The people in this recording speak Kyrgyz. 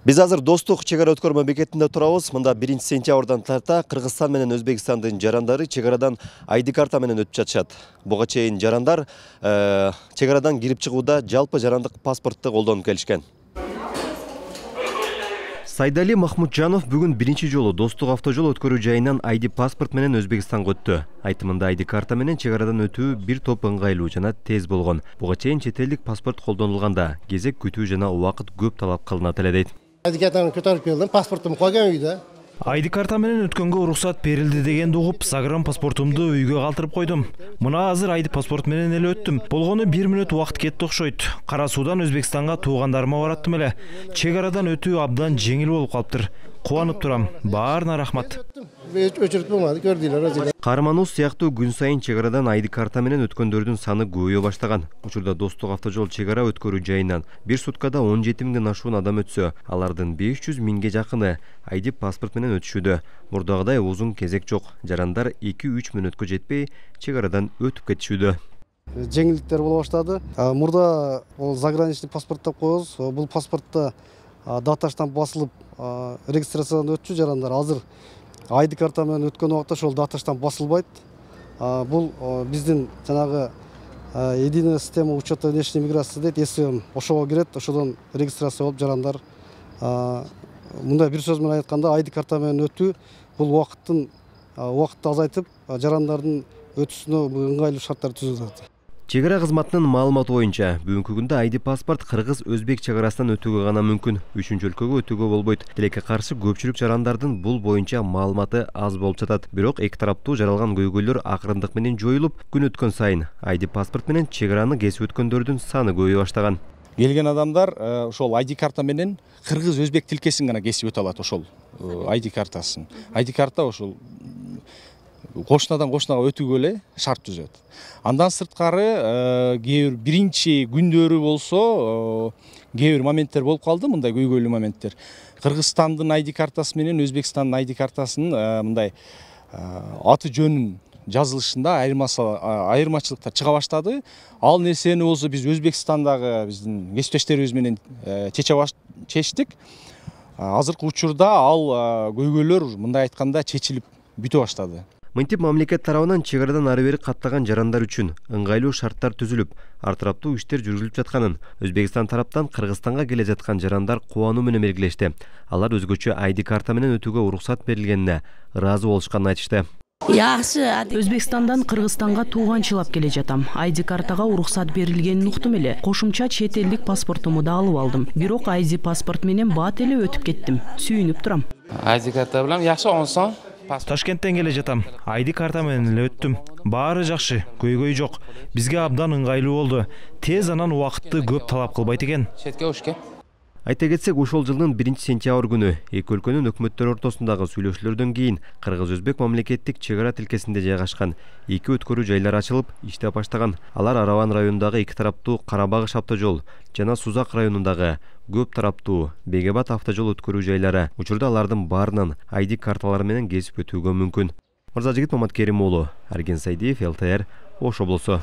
Биз азыр Достук чек ара өткөрмө бекетинде турабыз. Мында 1-сентябрдан тарта Кыргызстан менен Өзбекстандын жарандары чек арадан ID карта менен өтүп жатышат. Буга чейин жарандар чек арадан кирип чыгууда жалпы жарандык паспортты колдонуп келишкен. Сайдали Махмутжанов бүгүн биринчи жолу Достук автожол өткөрүү жайынан ID паспорт менен Өзбекстанга өттү. Айтымында ID карта менен чек арадан өтүү бир топ ыңгайлуу жана тез болгон. Буга чейин чет элдик паспорт колдонулганда кезек күтүү жана убакыт көп талап кылынат эле дейт. ID картаны көтөрүп келдим, паспортум койгон үйдө. ID карта менен өткөнгө уруксат берилди дегенди угуп, загран паспортумду үйгө калтырып койдум. Мына азыр ID паспорт менен эле өттүм. Болгону 1 мүнөт убакыт кетти окшойт. Кара суудан Өзбекстанга туугандарыма бараттым эле. Чек арадан өтүү абдан жеңил болуп калыптыр. Кубанып турам. Баарына рахмат. Өчүрүп болмады, көрдүлөр өзү. Каарманыбыз сыяктуу күн сайын чек арадан ID карта менен өткөндөрдүн саны көбөйө баштаган. Учурда Достук автожол чек ара өткөрүү жайынан бир суткада 17 миңден ашуун адам өтсө, алардын 500 миңге жакыны ID паспорт менен өтүшүүдө. Мурдагыдай узун кезек жок. Жарандар 2-3 мүнөткө жетпей чек арадан өтүп кетишүүдө. Жеңилдиктер боло баштады. Мурда заграничный паспорт деп коебуз. Бул паспортто дата штамп басылып регистрациядан өтчү жарандар. Азыр ID карта менен өткөн убакта ошол дата штамп басылбайт. Бул биздин жанагы единая система учета внешней миграции дейт, СМ. Ошого кирет, ошодон регистрация болуп жарандар мындай бир сөз менен айтканда ID карта менен өтүү бул убакытты азайтып, жарандардын өтүүсүнө ыңгайлуу шарттар түзүлөт. Чек ара кызматынын маалыматы боюнча, бүгүнкү күндө ID паспорт кыргыз-өзбек чек арасынан өтүүгө гана мүмкүн. Үчүнчү өлкөгө өтүүгө болбойт. Тилекке каршы көпчүлүк жарандардын бул боюнча маалыматы аз болуп жатат. Бирок эки тараптуу жаралган көйгөйлөр акырындык менен жоюлуп, күн өткөн сайын ID паспорт менен чек араны кесип өткөндөрдүн саны көбөйө баштаган. Келген адамдар ошол ID карта менен кыргыз-өзбек тилкесин гана кесип өтө алат ошол ID картасын. ID карта ошол кошунадан кошунага өтүүгө эле шарт түзөт. Андан сырткары кээ бир биринчи күндөрү болсо кээ бир моменттер болуп калды, мындай көйгөйлүү моменттер. Кыргызстандын ID картасы менен Өзбекстандын ID картасынын мындай аты жөнүн жазылышында айырмачылыктар чыга баштады. Ал нерсени болсо биз Өзбекстандагы биздин кесиптештерибиз менен чечтик. Азыркы учурда ал көйгөйлөр мындай айтканда чечилип бүтө баштады. Мынтип мамлекет тарабынан чек арадан ары бери каттаган жарандар үчүн ыңгайлуу шарттар түзүлүп, ар тараптуу иштер жүргүзүлүп жатканын Өзбекстан тараптан Кыргызстанга келе жаткан жарандар кубануу менен белгилешти. Алар өзгөчө ID карта менен өтүүгө уруксат берилгенине ыраазы болушканын айтышты. Өзбекстандан Кыргызстанга тууганчылап келе жатам. ID картага уруксат берилгенин уктум эле. Кошумча чет элдик паспортумду да алып алдым. Бирок ID паспорт менен бат эле өтүп кеттим. Сүйүнүп турам. ID карта менен жакшы онсон. Ташкенттен келе жатам. ID карта менен эле өттүм. Баары жакшы, көйгөй жок. Бизге абдан ыңгайлуу болду. Тез анан убакытты көп талап кылбайт экен. Четке ушке. Айта кетсек, ошол жылдын 1-сентябрь күнү эки өлкөнүн өкмөттөрү ортосундагы сүйлөшүүлөрдөн кийин Кыргыз-Өзбек мамлекеттик чек ара тилкесинде жайгашкан эки өткөрүү жайлар ачылып, иштеп баштаган. Алар Араван районундагы эки тараптуу Карабагыш автожол жана Сузак районундагы көп тараптуу Бегебат автожол өткөрүү жайлары. Учурда алардын баарынан ID карталары менен кесип өтүүгө мүмкүн. Мырзажигит Маматкерим уулу, Арген Сайдиев, ЛТР, Ош облусу.